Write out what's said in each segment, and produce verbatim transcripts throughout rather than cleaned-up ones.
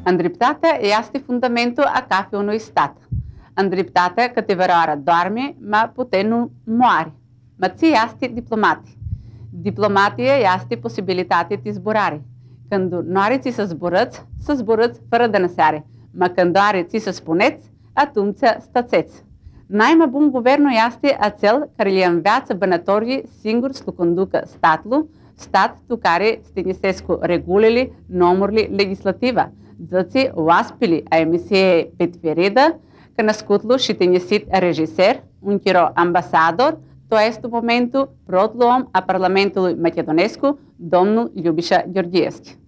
Андриптата е јасти фундаменту а кафеуно и стата. Андриптата кате вероара дорми, ма потену моари. Ма ци јасти дипломати. Дипломатија јасти посибилитатите изборари. Канду норици со зборец, со зборец фара да насари. Ма кандарици со спонец, а тумца стацец. Најма бум говерно јасти а цел карилијан вјаца банаторги сингур слукондука статлу, стат тукари стенисеско регулили, номорли легислатива. Дзаци уаспили а емисија петвереда, канаскутлу шитенјесит режисер, ункиро амбасадор, тоа есто моменту протлуом а парламентулу македонеску домну Љубиша Ѓорѓиевски.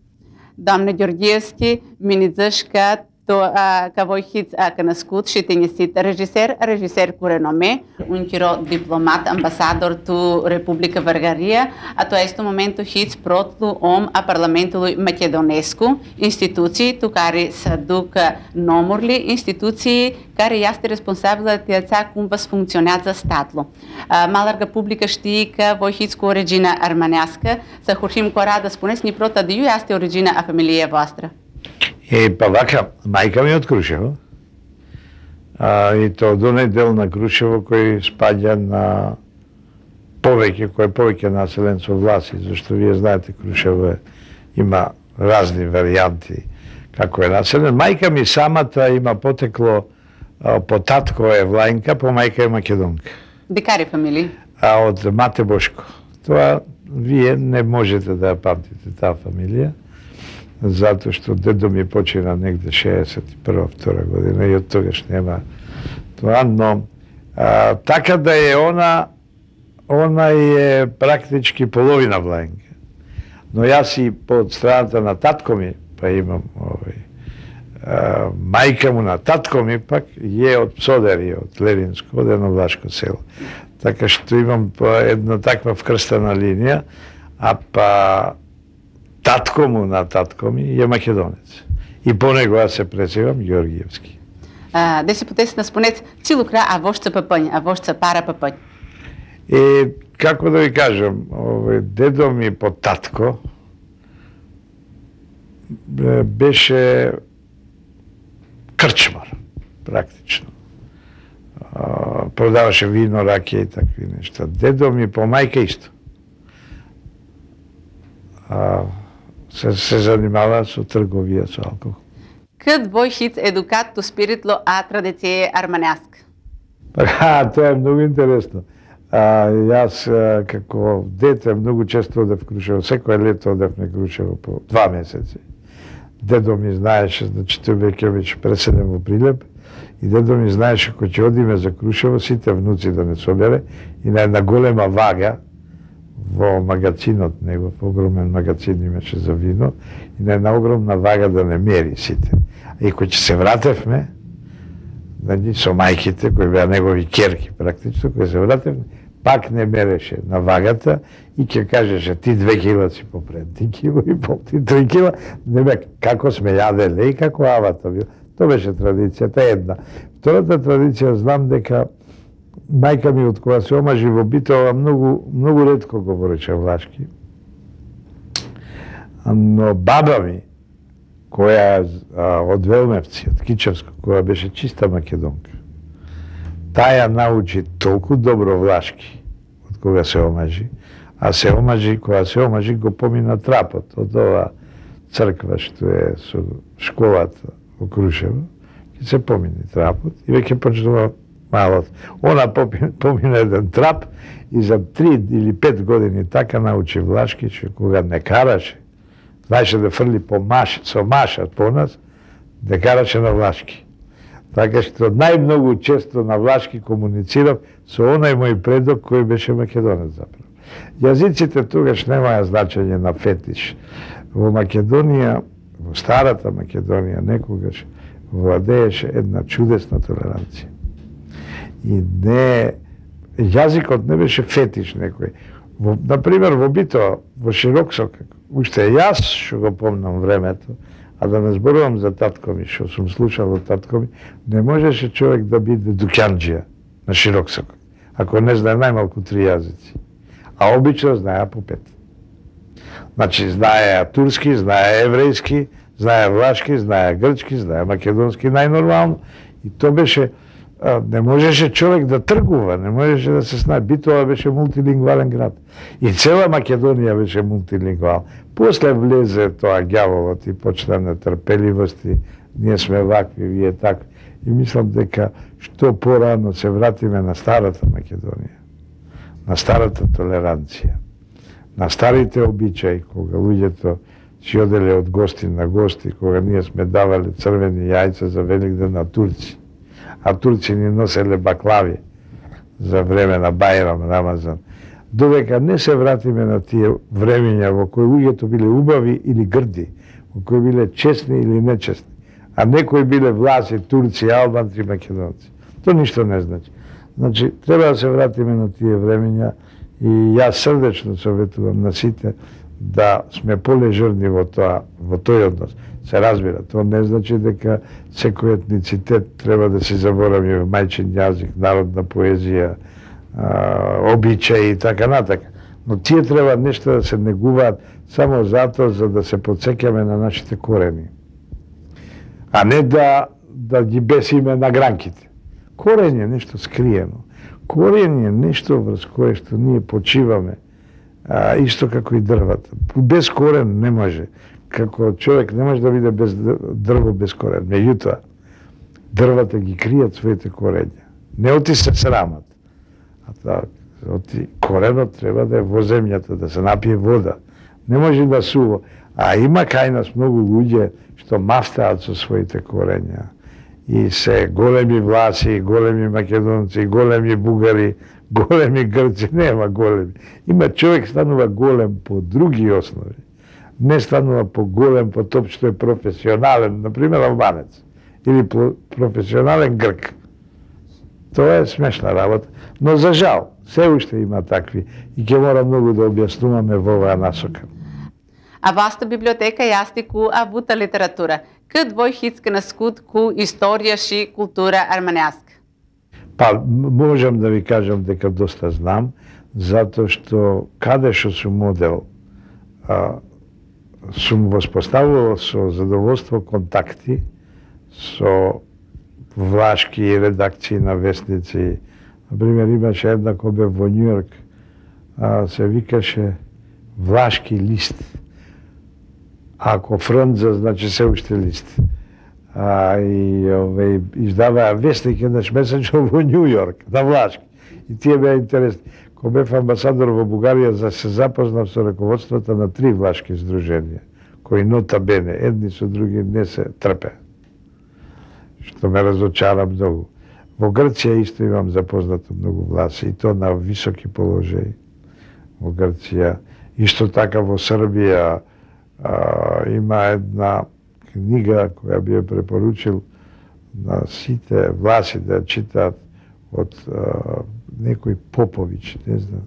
Домне Ѓорѓиевски минидзашка тоа кавојхиц канаскут шитенјесит режисер, режисер куреноме, ункиро дипломат, амбасадор ту Република Варгарија, а тоа есто моменту хиц протлу ом а парламентулу македонеску институции тукари садука номорли институции кари јасти респонсабилати јаца кумвас функционат за статлу. Маларга публика штика војхицко оригина армањаска, са хорхим корада спонес ни прота дiju јасти оригина а фамилија vostra. Е, па вака, мајка ми од Крушево. А, и то од оној дел на Крушево кој спаѓа на повеќе, кој е повеќе населен со власи, зашто вие знаете Крушево има разни варијанти како е населен. Мајка ми самата има потекло, по татко е Влајнка, по мајка е Македонка. Декари фамилија? А од Мате Бошко. Тоа вие не можете да ја памтите таа фамилија, затоа што дедо ми почина негде шеесет и прва втора година и од тогаш нема тоа, но а, така да е она, она е практички половина Влајнка. Но јас и под страната на татко ми, па имам овој, а, мајка му на татко ми пак е од Псодери, од Левинско, од едно влашко село. Така што имам една таква вкрстена линија, а па татко му на татко ми е македонец. И по него аз се презивам Ѓорѓиевски. А, де се потеси на спонец цилукра, а вошца папањ, а вошца пара папањ? И како да ви кажам, овој дедо ми по татко беше крчмар, практично. А, продаваше вино, ракија и такви нешта. Дедо ми по мајка исто. А, се, се занимава со трговија со алкохол. Кад војхиц едукат ту спиритло а традиција армањаска? Па, тоа е многу интересно. А, јас а, како дете многу често одев Крушево, секој лето одев на Крушево по два месеци. Дедо ми знаеше, значи тој веќе беше преселен во Прилеп, и дедо ми знаеше кој ќе одиме за Крушево, сите внуци да не собере, и на една голема вага во магацинот негов, огромен магацин имаше за вино, и на една огромна вага да не мери сите. И кој ќе се вратевме, со мајките, кои беа негови керки практично, кој се вратевме, пак не мереше на вагата и ќе кажеше ти две кила си попред, ти кило и пол, ти три кила, не бе, како сме јаделе и како авата бил. Тоа беше традицијата една. Втората традиција, знам дека мајка ми од кога се омажи во Битола многу, многу ретко говореше влашки. Но баба ми, која а, од Велмевци, од Кичевско, која беше чиста македонка, таја научи толку добро влашки од кога се омажи, а се омажи, кога се омажи го помина трапот од ова црква што е со школата во Крушево, ќе се помини трапот и веќе почнува малот. Она помина еден трап и за три или пет години така научи влашки, че кога не караше, знаеше да фрли по маш, со машат по нас, да караше на влашки. Така што најмногу често на влашки комуницирав со онај мој предок кој беше македонец заправо. Јазиците тогаш немаја значење на фетиш. Во Македонија, во старата Македонија, некогаш владееше една чудесна толеранција. И не, јазикот не беше фетиш некој. Во, например, во Битола, во Широксок, уште јас што го помнам времето, а да не зборувам за татко ми, што сум слушал од татко ми, не можеше човек да биде дукјанџија на Широксок, ако не знае најмалку три јазици. А обично знаеа по пет. Значи, знаеа турски, знаеа еврејски, Знае влашки, знае грчки, знае македонски најнормално. И то беше, не можеше човек да тргува, не можеше да се знае. Битола беше мултилингвален град. И цела Македонија беше мултилингвална. После влезе тоа ѓаволот и почна нетрпеливост и ние сме вакви, вие такви. И мислам дека што порано се вратиме на старата Македонија, на старата толеранција, на старите обичаи, кога луѓето си оделе од гости на гости, кога ние сме давале црвени јајца за Великден на турци, а турци ни носеле баклави за време на Бајрам, Рамазан. Додека не се вратиме на тие времења во кои луѓето биле убави или грди, во кои биле честни или нечестни, а некои биле власи, турци, албанци, македонци. То ништо не значи. Значи, треба да се вратиме на тие времења и јас срдечно советувам на сите да сме полежерни во тоа, во тој однос. Се разбира, тоа не значи дека секој етницитет треба да се заборави мајчин јазик, народна поезија, а, обичаи и така натака. Но тие треба нешто да се негуваат само затоа за да се подсеќаме на нашите корени. А не да, да ги бесиме на гранките. Корен е нешто скриено. Корен е нешто врз кое што ние почиваме, а, исто како и дрвата. Без корен не може. Како човек не може да биде без дрво без корен. Меѓутоа, дрвата ги кријат своите корења. Не оти се срамат. А та, оти коренот треба да е во земјата, да се напие вода. Не може да сува. А има кај нас многу луѓе што мафтаат со своите корења. И се големи власи, големи македонци, големи бугари, големи грци, нема големи. Има човек станува голем по други основи. Не станува по голем по тоа што е професионален, например албанец, или професионален грк. Тоа е смешна работа, но за жал, се уште има такви и ќе мора многу да објаснуваме во оваа насока. A vossa biblioteca este com a vuta literatura. Que dvoj hitske na skut ku istorija și kultura armaneaska? Pa, можам да ви кажам дека доста знам, затоа што каде што сум модел, а, сум воспоставувал со задоволство контакти со влашки редакции на вестници. Например, имаше една која бе во Њујорк, се викаше Влашки лист. Ако Фрнза, значи се уште лист. А, и ове, издаваа вестник еднаш месечно во Њујорк, на влашки. И тие беа интересни. Кога бев амбасадор во Бугарија, за се запознав со раководството на три влашки здруженија, кои нота бене, едни со други не се трпе. Што ме разочара многу. Во Грција исто имам запознато многу власи, и то на високи положаи. Во Грција, исто така во Србија, а, има една книга која би ја препоручил на сите власи да читаат од а, некој Попович, не знам.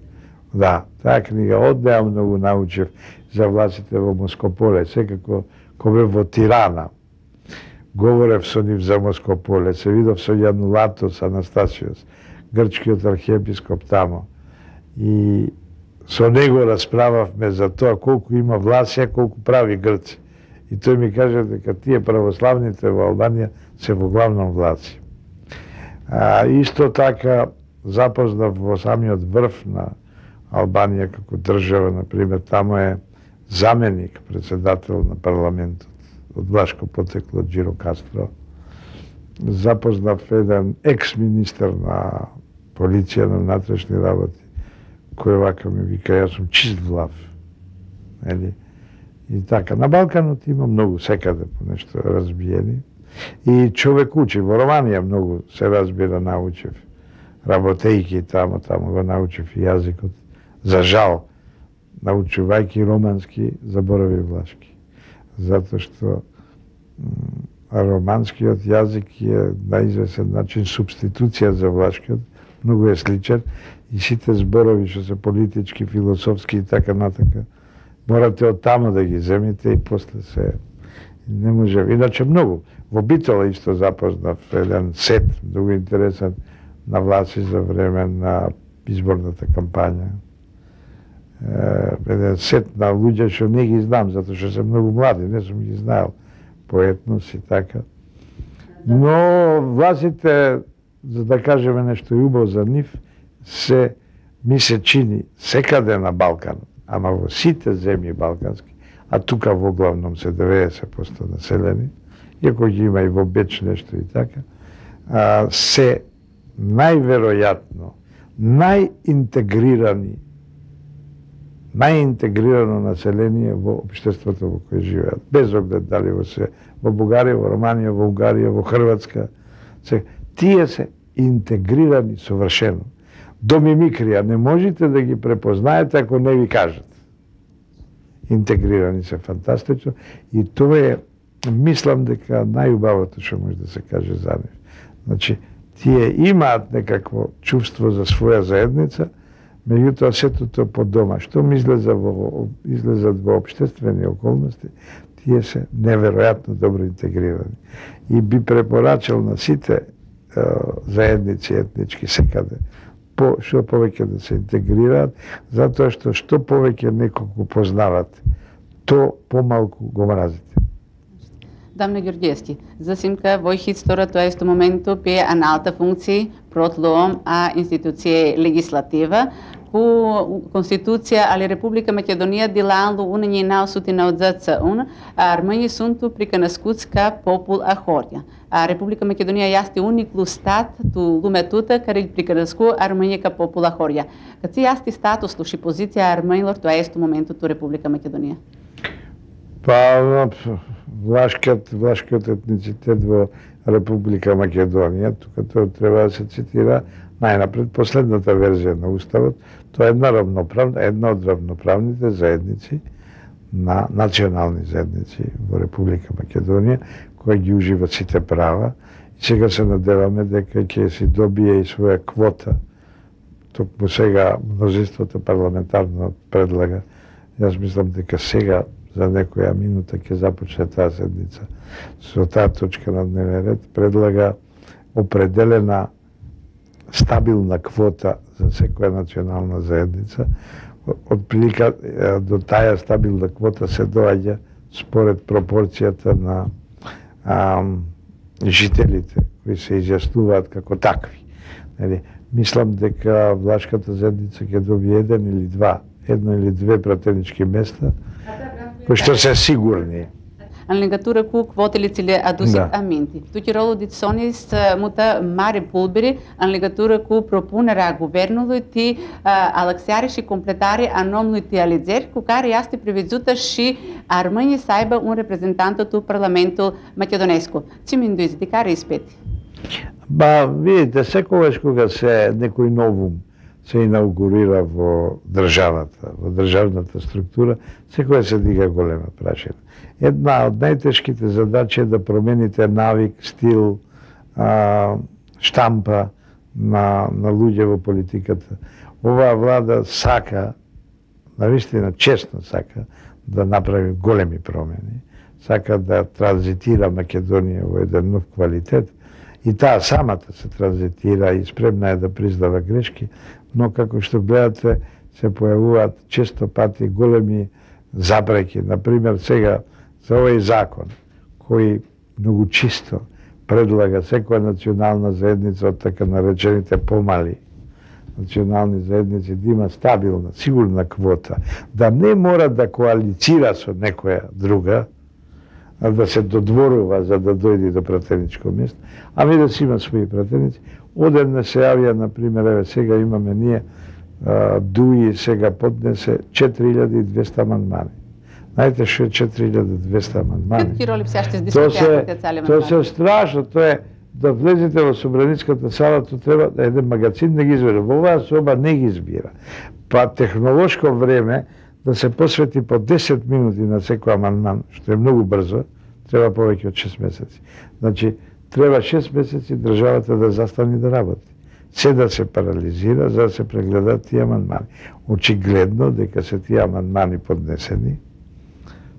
Да, таа книга од неа многу научив за власите во Москополе, секако кога бев во Тирана. Говорев со нив за Москополе, се видов со Јанулатос Анастасиос, грчкиот архиепископ тамо. И со него расправавме за тоа колку има власи, а колку прави грци. И тој ми каже дека тие православните во Албанија се во главном власи. А, исто така запознав во самиот врв на Албанија како држава, например, тамо е заменик, председател на парламентот, од влашко потекло Джиро Кастро. Запознав еден екс-министер на полиција на внатрешни работи, кој вака ми вика, јас сум чист влав. Ели? И така, на Балканот има многу, секаде по нешто разбиени. И човек учи, во Романија многу се разбира, научив. Работејки тамо, тамо го научив и јазикот. За жал, научувајќи романски, заборави влашки. Затоа што романскиот јазик е на известен начин субституција за влашкиот, многу е сличен и сите зборови што се политички, философски и така натака, морате од тамо да ги земите и после се не може. Иначе многу. Во Битола исто запознав еден сет, многу интересен, на власи за време на изборната кампања. Еден сет на луѓе што не ги знам, затоа што се многу млади, не сум ги знаел. по етнос и така. Но властите, за да кажеме нешто убаво за нив, се ми се чини секаде на Балкан, ама во сите земји балкански, а тука во главном се деветдесет проценти населени, иако ги има и во Беч нешто и така, а, се најверојатно најинтегрирани најинтегрирано население во општеството во кое живеат. Без оглед дали во се во Бугарија, во Романија, во Унгарија, во Хрватска. Се, тие се интегрирани совршено. До мимикрија не можете да ги препознаете ако не ви кажат. Интегрирани се фантастично и тоа е, мислам дека најубавото што може да се каже за нив. Значи, тие имаат некакво чувство за своја заедница, меѓутоа сето тоа по дома. Што ми излеза во, излезат во општествени околности, тие се неверојатно добро интегрирани. И би препорачал на сите е, заедници етнички секаде, по, што повеќе да се интегрираат, затоа што што повеќе неколку познават, то помалку го мразите. Дамна Ѓорѓевски, засимка во хистора тоа исто моменту пе аналта функции протлоом а институција легислатива по Конституција али Република Македонија дилаанлу унање наосутина од ЗЦУН, а Армањи сунту приканаскутска попул ахорја. А Република Македонија јасти униклу стат ту луметута кари приканаску Армањика попул ахорја. Кад се јасти статус луши позиција Армањлор тоа исто моменту ту Република Македонија? Па, влашкиот, влашкиот етницитет во Република Македонија, тука тоа треба да се цитира најнапред последната верзија на Уставот, тоа е една равноправна, една од равноправните заедници на национални заедници во Република Македонија, која ги ужива сите права и сега се надеваме дека ќе си добие и своја квота. Токму сега мнозинството парламентарно предлага. Јас мислам дека сега за некоја минута ќе започне таа седница. Со таа точка на дневен ред предлага определена стабилна квота за секоја национална заедница. Од прилика до таа стабилна квота се доаѓа според пропорцијата на а, жителите кои се изјаснуваат како такви. Нели, мислам дека влашката заедница ќе добие еден или два, едно или две пратенички места, кои што се сигурни. În legătură cu kvotele ți le adusit Da. aminte. Tu ti rolul de sonis muta mare pulbere în legătură cu propunerea guvernului ti alaxare și completare a nomului ti alegeri cu care este prevăzută și Armânia să aibă un reprezentant tu Parlamentul Macedonescu. Ți mi induiți de care ispeti? Ba, vidite, секогаш кога се некој новум се инаугурира во државата, во државната структура, секогаш се дига голема прашина. Една од најтешките задачи е да промените навик, стил, а, штампа на, на луѓе во политиката. Оваа влада сака, навистина честно сака, да направи големи промени, сака да транзитира Македонија во еден нов квалитет, и таа самата се транзитира и спремна е да признава грешки, но како што гледате се појавуваат често пати големи запреки. Например, сега за овој закон, кој многу чисто предлага секоја национална заедница од така наречените помали национални заедници да има стабилна, сигурна квота, да не мора да коалицира со некоја друга, а да се додворува за да дојде до пратеничко место, ами да си има своји пратеници. Одеднаш се јавија, например, еве сега имаме ние, Дуи сега поднесе четири илјади и двесте амандмани. Знаете што е четири илјади и двесте амандмани? Какви роли сега ще Тоа дискутирате цели се, тоа се страшно, тоа е да влезете во собраницката сала, тоа треба да еден магазин не ги избира. Во оваа соба не ги избира. Па технолошко време да се посвети по десет минути на секој амандман, што е многу брзо, треба повеќе од шест месеци. Значи, треба шест месеци државата да застане да работи. Се да се парализира за да се прегледат тие амандмани. Очигледно дека се тие амандмани поднесени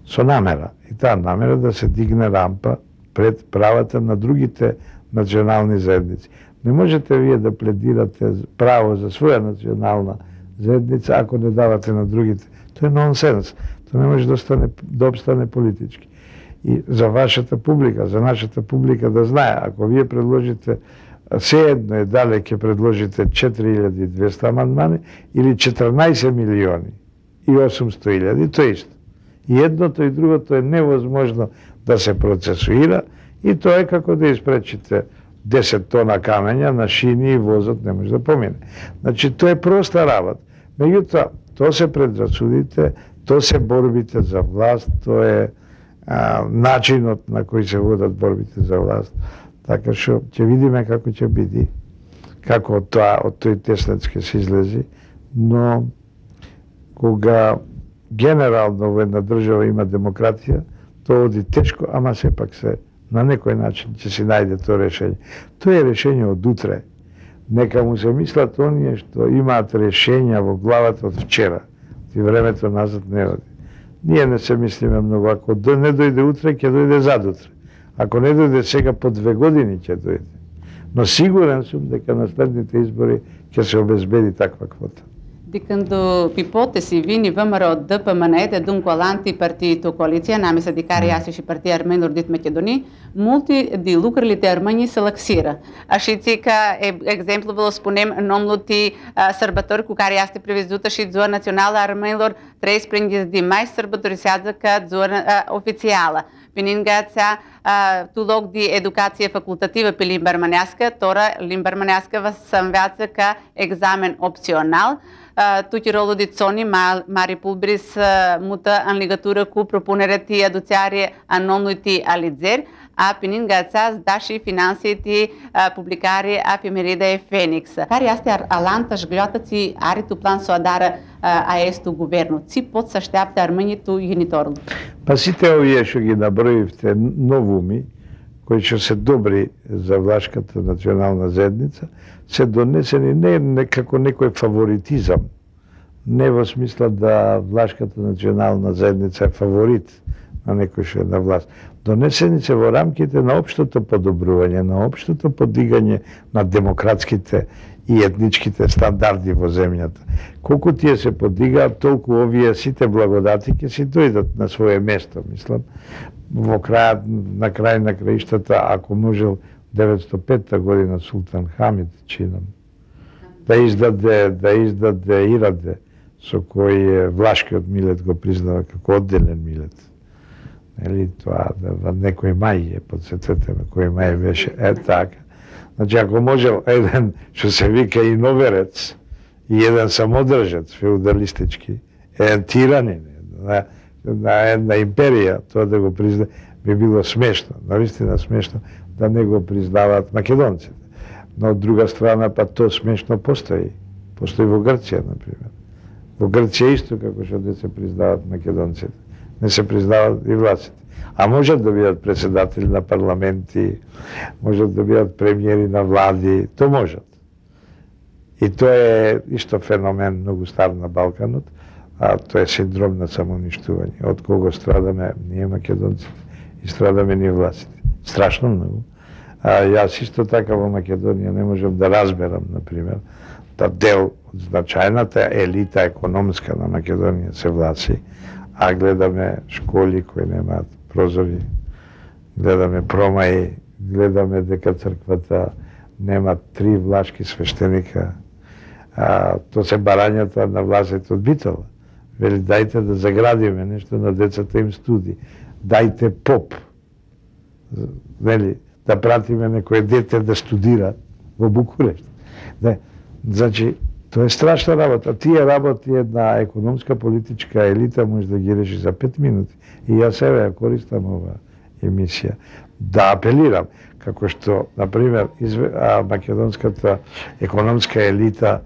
со намера. И таа намера да се дигне рампа пред правата на другите национални заедници. Не можете вие да пледирате право за своја национална заедница ако не давате на другите. Тоа е нонсенс. Тоа не може да, остане, да обстане политички. И за вашата публика, за нашата публика да знае, ако вие предложите, сеедно е дали ќе предложите четири илјади и двесте амандмани или четрнаесет милиони и осумсто илјади, тоа е исто. И едното и другото е невозможно да се процесуира и тоа е како да испречите десет тона камења на шини и возот не може да помине. Значи, тоа е проста работа. Меѓутоа, тоа се предрасудите, тоа се борбите за власт, тоа е а, начинот на кој се водат борбите за власт. Така што ќе видиме како ќе биде, како од тоа, од тој теснец ќе се излези, но кога генерално во една држава има демократија, тоа оди тешко, ама сепак се на некој начин ќе се најде тоа решење. Тоа е решење од утре. Нека му се мислат оние што имаат решења во главата од вчера. И времето назад не оди. Ние не се мислиме многу. Ако не дојде утре, ќе дојде задутре. Ако не дојде сега, по две години ќе дојде. Но сигурен сум дека на следните избори ќе се обезбеди таква квота. Dicând ipotesi vini vămără de pe mănăite d'un colanti partido coaliția, nami să dicare iasi și partii armenilor dit Macedonii, multi di lucrurile de armeni se laxiră. Așa că, exemplu, vă spunem, nomul de sărbători cu care este prevăzută și ziua națională a armenilor treisprezece de mai sărbătorisează ca ziua oficială. Пенингаца ту лог ди едукација факултатива пи limba armanească, тора limba armanească va s'anveață ca examen opțional. Tutti rolul di zoni mari pulbris mută în legătură cu propunerea de aduțare a nomului de alizeri, a Peningața da și finanții de publicare a efemerida e Phoenix. Care este alantaș gleota ți are tu plan să o adară a estu guvernul? Ți pot să așteaptă armânii tu genitorul? Pa sите овие што ги наброивте новуми, кои што се добри за Влашката национална заедница, се донесени не, не како некој фаворитизам, не во смисла да Влашката национална заедница е фаворит на некој што е на власт. Донесени се во рамките на општото подобрување, на општото подигање на демократските и етничките стандарди во земјата. Колку тие се подигаат, толку овие сите благодати ќе си дојдат на свое место, мислам. Во крајот, на крај на краиштата, ако можел деветстотини и пета година Султан Хамид, чинам, да издаде, да издаде Ираде, со кој Влашкиот милет го признава како одделен милет. Нели тоа, да, некој мај е, подсетете ме, кој мај беше, е така. Значи, ако можел еден, што се вика иноверец, и еден самодржец, феудалистички, еден тиранин, на, на една империја, тоа да го призна, би било смешно, навистина смешно, да не го признаваат македонците. Но од друга страна, па тоа смешно постои. Постои во Грција, например. Во Грција исто како што не се признаваат македонците. Не се признаваат и властите. А можат да бидат председатели на парламенти, можат да бидат премиери на влади, то можат. И тоа е исто феномен многу стар на Балканот, а тоа е синдром на самоуништување, од кого страдаме ние македонците и страдаме ние властите. Страшно многу. А јас исто така во Македонија не можам да разберам, например, да дел од значајната елита економска на Македонија се власи, а гледаме школи кои немаат прозори, гледаме промаи, гледаме дека црквата нема три влашки свештеника, а, то се барањата на властите од Битола. Вели, дајте да заградиме нешто на децата им студи, дајте поп, вели, да пратиме некој дете да студира во Букурешт. Да, значи, тоа е страшна работа. Тие работи една економска политичка елита може да ги реши за пет минути. И јас еве ја користам ова емисија да апелирам, како што, например, македонската економска елита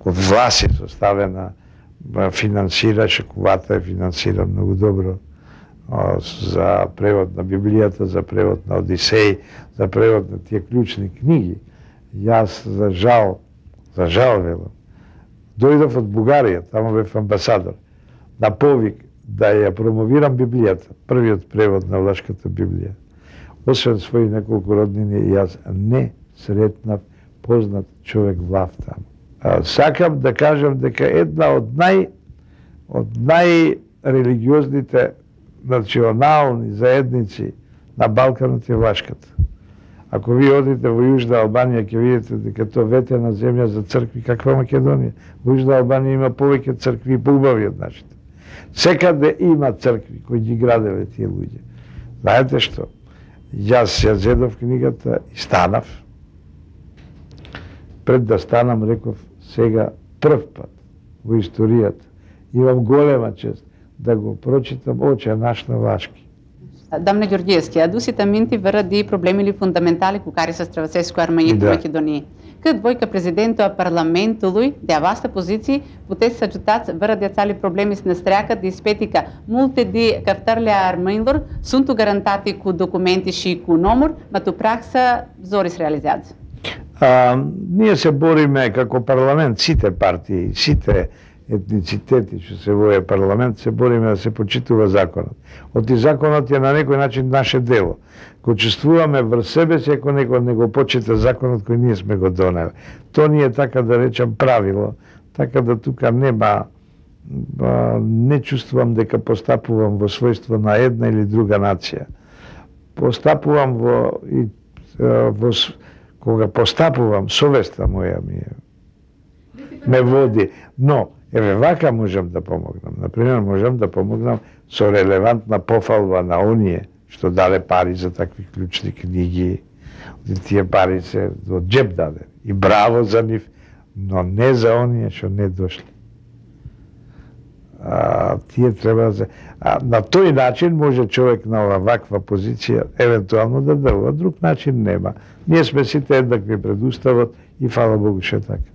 од власт составена финансираше, кувата е финансира многу добро за превод на Библијата, за превод на Одисеј, за превод на тие клучни книги. Јас, за жал, за жал, велам, дојдов од Бугарија, тамо бев амбасадор, на повик да ја промовирам Библијата, првиот превод на Влашката Библија. Освен своји неколку роднини, јас не сретнав познат човек влав таму. Сакам да кажам дека една од нај од најрелигиозните национални заедници на Балканот е Влашката. Ако ви одите во Јужна Албанија, ќе видите дека тоа ветена земја за цркви, каква Македонија. Во Јужна Албанија има повеќе цркви поубави од нашите. Секаде има цркви кои ги граделе тие луѓе. Знаете што? Јас ја зедов книгата и станав. Пред да станам реков, сега прв пат во историјата имам голема чест да го прочитам Оче наш на влашки. Дамне Ѓорѓиевски, адусите минти вради проблеми фундаментали кукари со Стравасеско армањето Да. Македонија. Кад двојка президентот парламентului de avaste poziții puteți să ajutați vără de țali problemi să ne streacă de spetica multe de căftările armăilor sunt garantate cu documente și cu nomuri, ma tu praxa zori se realizează. А, ние се бориме како парламент, сите партии, сите етницитети што се во парламент, се бориме да се почитува законот. Оти законот е на некој начин наше дело. Ко чувствуваме врз себе си, ако некој не го почита законот кој ние сме го донели. То ни е, така да речам, правило, така да тука нема, а, не чувствувам дека постапувам во својство на една или друга нација. Постапувам во, и, а, во кога постапувам, совеста моја ми е, ме води. Но, еве вака можам да помогнам. Например, можам да помогнам со релевантна пофалба на оние што даде пари за такви клучни книги. Тие пари се од џеб даде. И браво за нив, но не за оние што не дошли. А, тие треба да... А, на тој начин може човек на оваква позиција евентуално да делува, друг начин нема. Ние сме сите еднакви пред уставот и фала Богу што е така.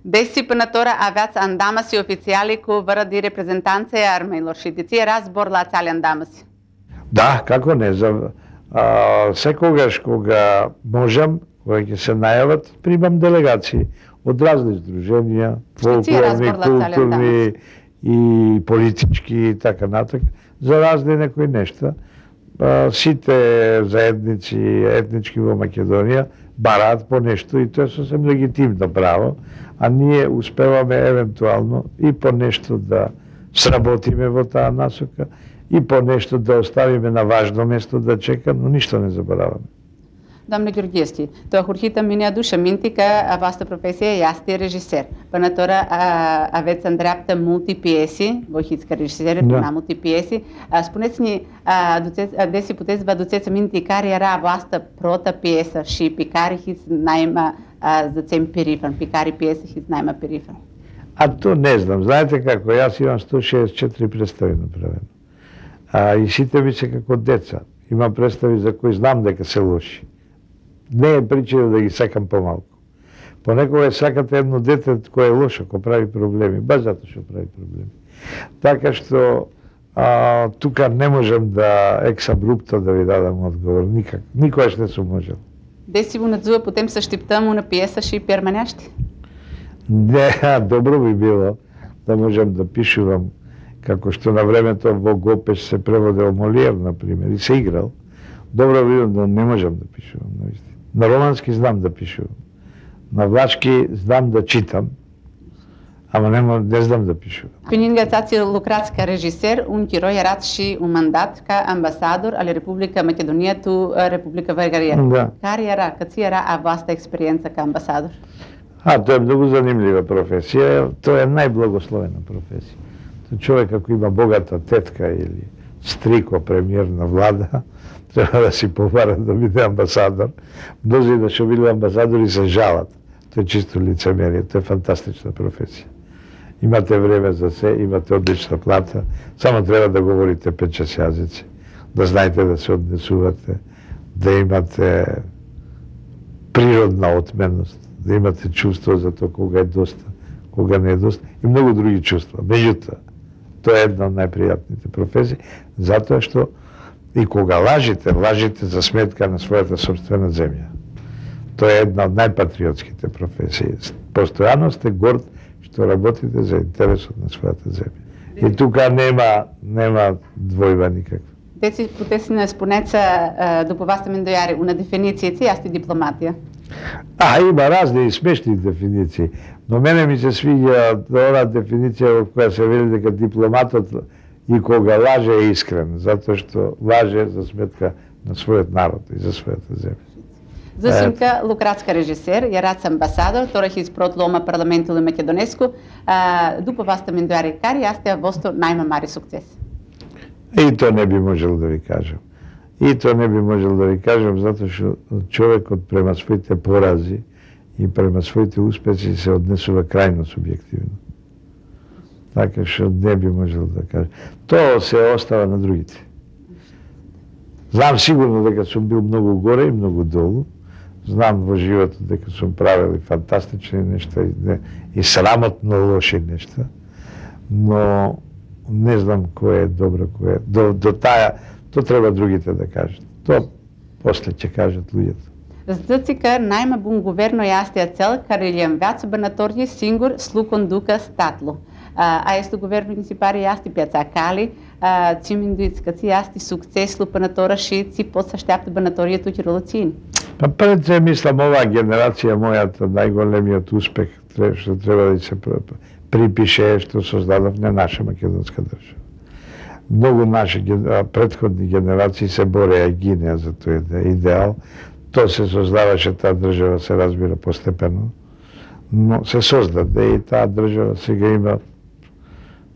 Disciplinătora aveați andamasi oficiali cu vără de reprezentanțe armeilor și de ție razbor la țale andamasi. Да, како не, за а, секогаш кога можам, кога ќе се најават, примам делегации од разни здруженија, фолклорни, културни и политички и така натак, за разни некои нешта. А, сите заедници етнички во Македонија бараат по нешто и тоа е сосем легитимно право, а ние успеваме евентуално и по нешто да сработиме во таа насока, и по нешто да оставиме на важно место да чека, но ништо не забораваме. Doamne Gheorgheschi, tu ahurhită mine aduce minte că a voastră profesie este regisseur. Până tora aveți în dreaptă multe piese, voi hiți că regisseur Da. na multe piese. Spuneți-ne, desi puteți vă aduceți aminte care era a voastră prota piesă și pe care hiți naima zățem perifon, pe care piesă hiți naima perifon? А то не знам. Знаете како, јас имам сто шеесет и четири представи направено. А, и сите ми се како деца. Имам представи за кои знам дека се лоши. Не е причина да ги сакам помалку. Понекога сакате едно дете кое е лошо, кој прави проблеми, баш затоа што прави проблеми. Така што а, тука не можам да ексабрупто да ви дадам одговор, никак. Никогаш не сум можел. Desi bună ziua, putem să așteptăm una piesă și permanește? Не, добро би било да можам да пишувам, како што на времето во Гопеш се преводел Молиер, например, и се играл. Добро би било, но не можам да пишувам, наистина. На романски знам да пишувам. На влашки знам да читам, ама не, не знам да pишувам. Pe lângă ați lucrați ca regisseur, un chiroi erați și un mandat ca ambasador al Republica Macedonia tu Republica Bulgaria. Да. Care era, câți era a voastră experiență ca ambasador? А, тоа е многу занимлива професија, тоа е најблагословена професија. Тоа човек ако има богата тетка или стрико премиер на влада, треба да си побара да биде амбасадор. Мнози да што биле амбасадори се жалат. Тоа е чисто лицемерие, тоа е фантастична професија. Имате време за се, имате одлична плата, само треба да говорите пет-шест јазици, да знаете да се однесувате, да имате природна отменност, да имате чувство за тоа кога е доста, кога не е доста и многу други чувства. Меѓутоа, тоа е една од најпријатните професии, затоа што и кога лажите, лажите за сметка на својата собствена земја. Тоа е една од најпатриотските професии. Постојано сте горд што работите за интересот на својата земја. И тука нема нема двојба никаква. Deci puteți să ne spuneți, după voastră mendoiare, una definiție, ce este diplomatia? А, има разни и смешни дефиниции, но мене ми се свиѓа онаа дефиниција во која се вели дека дипломатот и кога лаже е искрен, затоа што лаже за сметка на својот народ и за својата земја. Зашимка лукратска режисер, јарац амбасадор, торах изпрот лома парламенту ли Македонеску, дупо васта мендуари кари, јас те восто најмамари сукцес. И то не би можел да ви кажам. И то не би можел да ви кажам, затоа што човекот према своите порази и према своите успеси се однесува крајно субјективно. Така што не би можел да кажам. Тоа се остава на другите. Знам сигурно дека сум бил многу горе и многу долу. Знам во животот дека сум правил и фантастични нешта и, не, и срамотно лоши нешта. Но не знам кој е добро, кој е. До, до таа, то треба другите да кажат. То после ќе кажат луѓето. Здцика најма бун говерно јастија цел карелијам вјацо банаторји сингур слукон дука статлу. А есто говерно ги си пари јасти пјаца кали, циминдуицка си јасти сукцеслу банатора шици подсаштјапте банаторијето ќе ролоцини. Па пред се мислам оваа генерација мојата најголемиот успех што треба да се припише што создадов на наша македонска држава. Многу наши претходни генерации се бореа и гинеа за тој идеал. Тоа се создаваше, таа држава се разбира постепено, но се создаде и таа држава сега има,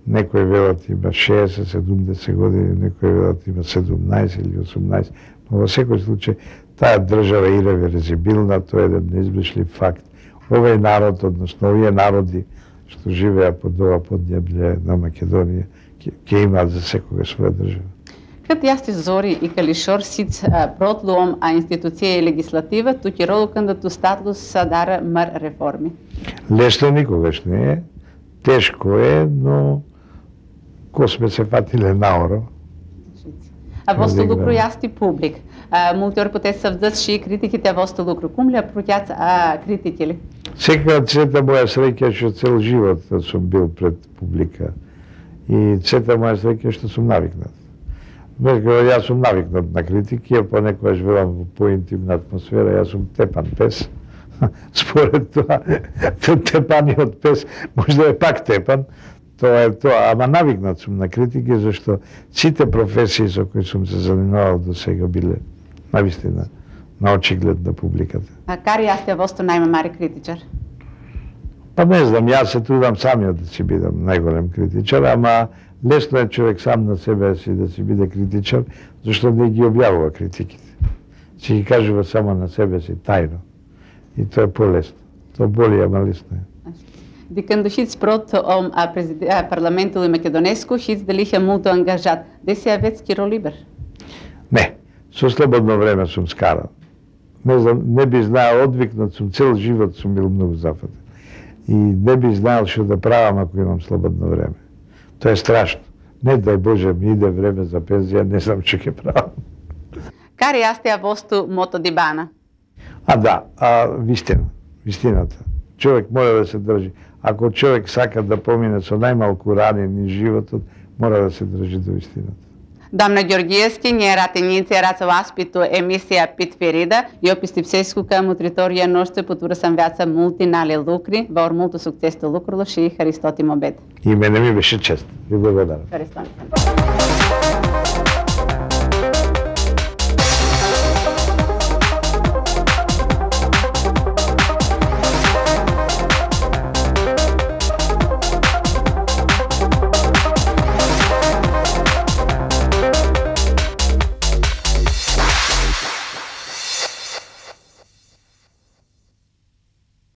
некои велат има шеесет седумдесет години, некои велат има седумнаесет или осумнаесет, но во секој случај таа држава е иреверзибилна, тоа е еден неизбришлив факт. Овој народ, односно овие народи што живеа под ова поднебље на Македонија, ќе имаат за секога своја држава. Кад јасти зори и калишор сиц протлуом а институција и легислатива, ту ќе ролу кандидату статус садара мар реформи. Лесно никогаш не е, тешко е, но ко сме се фатиле наоро. А восто лукру јасти публик. Мултиор потес савдат ши критиките восто лукру. Кум ли проќац критики ли? Секоја цета моја среќа што цел живот сум бил пред публика. И цета моја среќа што сум навикнат. Јас сум навикнат на критики, а понекогаш велам во поинтимна атмосфера, јас сум тепан пес. Според тоа, тепаниот пес може да е пак тепан, тоа е тоа, ама навикнат сум на критики, зашто сите професии со кои сум се занимавал до сега биле навистина на очиглед на публиката. А кари јас те восто најмамари критичар? Па не знам, јас се трудам самиот да си бидам најголем критичар, ама лесно е човек сам на себе си да си биде критичар, зашто не ги објавува критиките. Си ги кажува само на себе си тајно. И тоа е полесно. Тоа боли, ама лесно е. Диканду хиц прот ом парламенту ли Македонеску, хиц делиха мулто ангажат. Деси ја ветски ролибер? Не, со слободно време сум скарал. Не знам, не би знаел, одвикнат сум, цел живот сум бил многу зафатен. И не би знаел што да правам ако имам слободно време. Тоа е страшно. Не дај Боже ми иде време за пензија, не знам што ќе правам. Кари јас те ја восту мото дибана? А да, а вистина, вистината. Човек мора да се држи. Ако човек сака да помине со најмалку рани низ животот, мора да се држи до вистината. Дамна Ѓорѓиевски, ние ратеници рацо аспиту емисија Питферида и описти псеску кам утриторија ноште потура сам вјаца мултинали лукри, ваор мулто сукцесто лукрло ши Харистотим обед. И мене ми беше чест. Ви благодарам. Харистотим.